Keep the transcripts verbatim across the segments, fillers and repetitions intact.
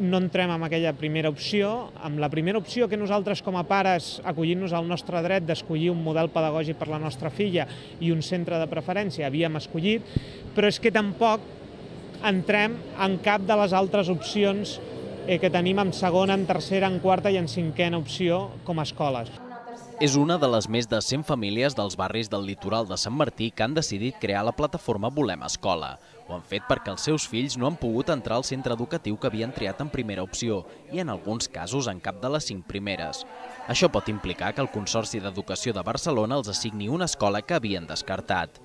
no entrem en aquella primera opció. Amb la primera opció que nosaltres com a pares, acollint-nos al nostre dret d'escollir un model pedagògic per la nostra filla i un centre de preferència, havíem escollit, però és que tampoc entrem en cap de les altres opcions que tenim en segona, en tercera, en quarta i en cinquena opció com a escoles. És una de les més de cent famílies dels barris del litoral de Sant Martí que han decidit crear la plataforma Volem Escola. Ho han fet perquè els seus fills no han pogut entrar al centre educatiu que havien triat en primera opció i en alguns casos en cap de les cinc primeres. Això pot implicar que el Consorci d'Educació de Barcelona els assigni una escola que havien descartat.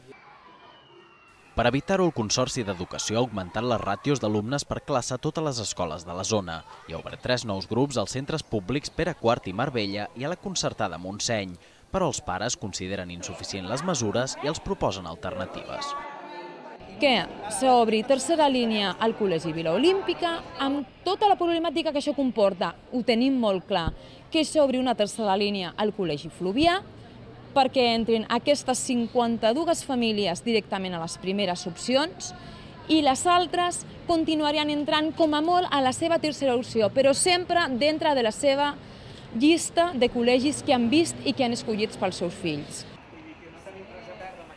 Per evitar-ho, el Consorci d'Educació ha augmentat les ràtios d'alumnes per classe a totes les escoles de la zona i ha obert tres nous grups als centres públics Pere quart i Marbella i a la concertada Montseny, però els pares consideren insuficient les mesures i els proposen alternatives. Que s'obri tercera línia al Col·legi Vila Olímpica, amb tota la problemàtica que això comporta, ho tenim molt clar, que s'obri una tercera línia al Col·legi Fluvià, perquè entrin aquestes cinquanta-dues famílies directament a les primeres opcions i les altres continuarien entrant com a molt a la seva tercera opció, però sempre dintre de la seva llista de col·legis que han vist i que han escollit pels seus fills.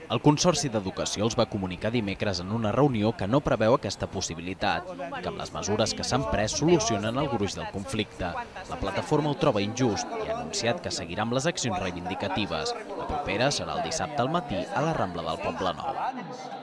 El Consorci d'Educació els va comunicar dimecres en una reunió que no preveu aquesta possibilitat i que amb les mesures que s'han pres solucionen el gruix del conflicte. La plataforma ho troba injust i ha anunciat que seguirà amb les accions reivindicatives. La propera serà el dissabte al matí a la Rambla del Poblenou.